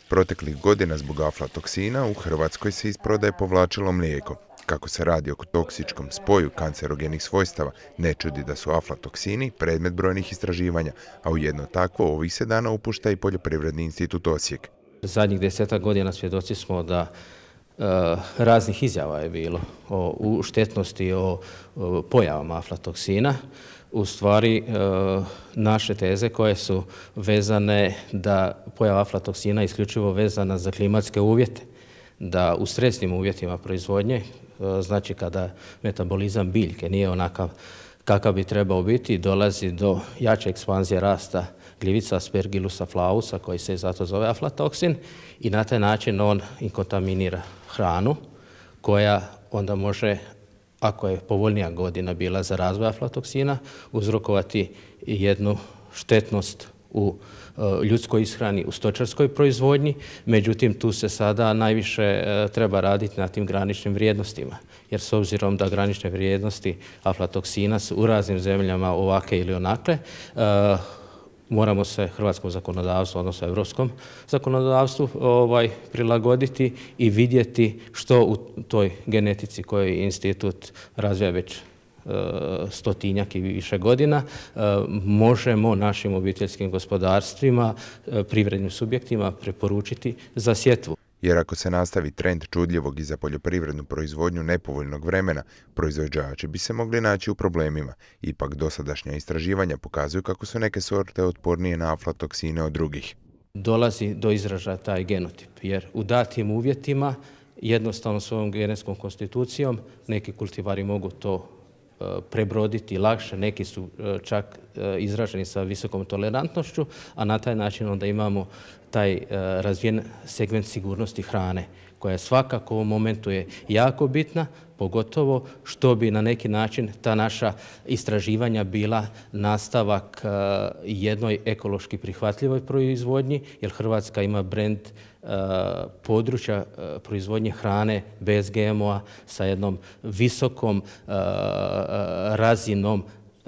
Proteklih godina zbog aflatoksina u Hrvatskoj se iz prodaje povlačilo mlijeko. Kako se radi o toksičkom spoju kancerogenih svojstava, ne čudi da su aflatoksini predmet brojnih istraživanja, a u jedno takvo ovih se dana upušta i Poljoprivredni institut Osijek. Zadnjih 10 godina svjedoci smo da raznih izjava je bilo o štetnosti, o pojavama aflatoksina. U stvari, naše teze koje su vezane da pojava aflatoksina je isključivo vezana za klimatske uvjete, da u stresnim uvjetima proizvodnje, znači kada metabolizam biljke nije onakav kakav bi trebao biti, dolazi do jače ekspanzije rasta gljivica Aspergillusa flavusa, koji se zato zove aflatoksin, i na taj način on inkontaminira hranu koja onda može, ako je povoljnija godina bila za razvoj aflatoksina, uzrokovati jednu štetnost u ljudskoj ishrani, u stočarskoj proizvodnji. Međutim, tu se sada najviše treba raditi na tim graničnim vrijednostima, jer s obzirom da granične vrijednosti aflatoksina su u raznim zemljama ovake ili onakve, moramo se hrvatskom zakonodavstvu, odnosno europskom zakonodavstvu prilagoditi i vidjeti što u toj genetici koju institut razvija već stotinjak i više godina, možemo našim obiteljskim gospodarstvima, privrednim subjektima preporučiti za sjetvu. Jer ako se nastavi trend čudljivog i za poljoprivrednu proizvodnju nepovoljnog vremena, proizvođači bi se mogli naći u problemima. Ipak dosadašnja istraživanja pokazuju kako su neke sorte otpornije na aflatoksine od drugih. Dolazi do izražaja taj genotip, jer u datim uvjetima jednostavno svojom genetskom konstitucijom neki kultivari mogu to prebroditi lakše, neki su čak izraženi sa visokom tolerantnošću, a na taj način onda imamo taj razvijen segment sigurnosti hrane, koja svakako u ovom momentu je jako bitna, pogotovo što bi na neki način ta naša istraživanja bila nastavak jednoj ekološki prihvatljivoj proizvodnji, jer Hrvatska ima brend područja proizvodnje hrane bez GMO-a sa jednom visokom razinom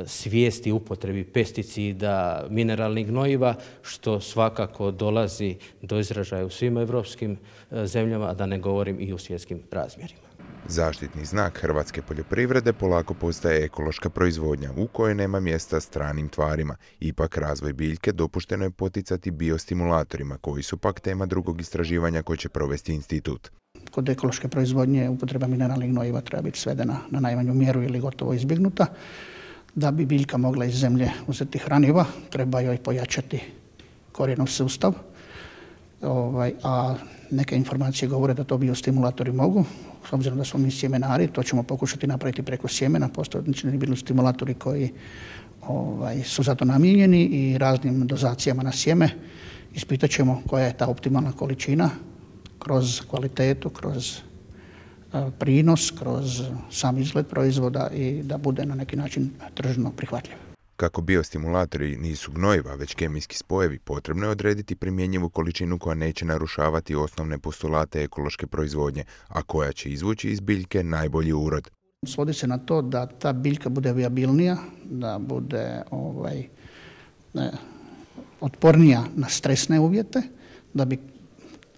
svijesti upotrebi pesticida, mineralnih gnojiva, što svakako dolazi do izražaja u svim evropskim zemljama, a da ne govorim i u svjetskim razmjerima. Zaštitni znak hrvatske poljoprivrede polako postaje ekološka proizvodnja u kojoj nema mjesta stranim tvarima. Ipak razvoj biljke dopušteno je poticati biostimulatorima, koji su pak tema drugog istraživanja koje će provesti institut. Kod ekološke proizvodnje upotreba mineralnih gnojiva treba biti svedena na najmanju mjeru ili gotovo izbjegnuta. Da bi biljka mogla iz zemlje uzeti hraniva, treba joj pojačati korijenov sustav, a neke informacije govore da to biostimulatori mogu. S obzirom da smo mi sjemenari, to ćemo pokušati napraviti preko sjemena. Postoje odlični biostimulatori koji su za to namijenjeni i raznim dozacijama na sjeme. Ispitat ćemo koja je ta optimalna količina kroz kvalitetu, kroz prinos, kroz sam izgled proizvoda i da bude na neki način tržno prihvatljiv. Kako biostimulatori nisu gnojiva, već kemijski spojevi, potrebno je odrediti primjenjivu količinu koja neće narušavati osnovne postulate ekološke proizvodnje, a koja će izvući iz biljke najbolji urod. Svodi se na to da ta biljka bude viabilnija, da bude otpornija na stresne uvjete, da bi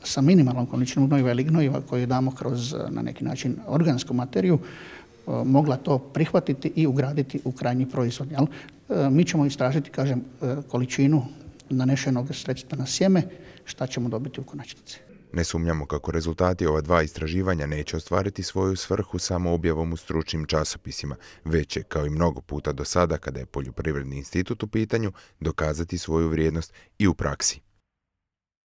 sa minimalnom količinom gnojiva ili gnojiva koju damo kroz na neki način organsku materiju mogla to prihvatiti i ugraditi u krajnji proizvod. Mi ćemo istražiti, količinu nanešenog sredstva na sjeme, šta ćemo dobiti u konačnici. Ne sumnjamo kako rezultati ova dva istraživanja neće ostvariti svoju svrhu samo objavom u stručnim časopisima, već će, kao i mnogo puta do sada kada je Poljoprivredni institut u pitanju, dokazati svoju vrijednost i u praksi.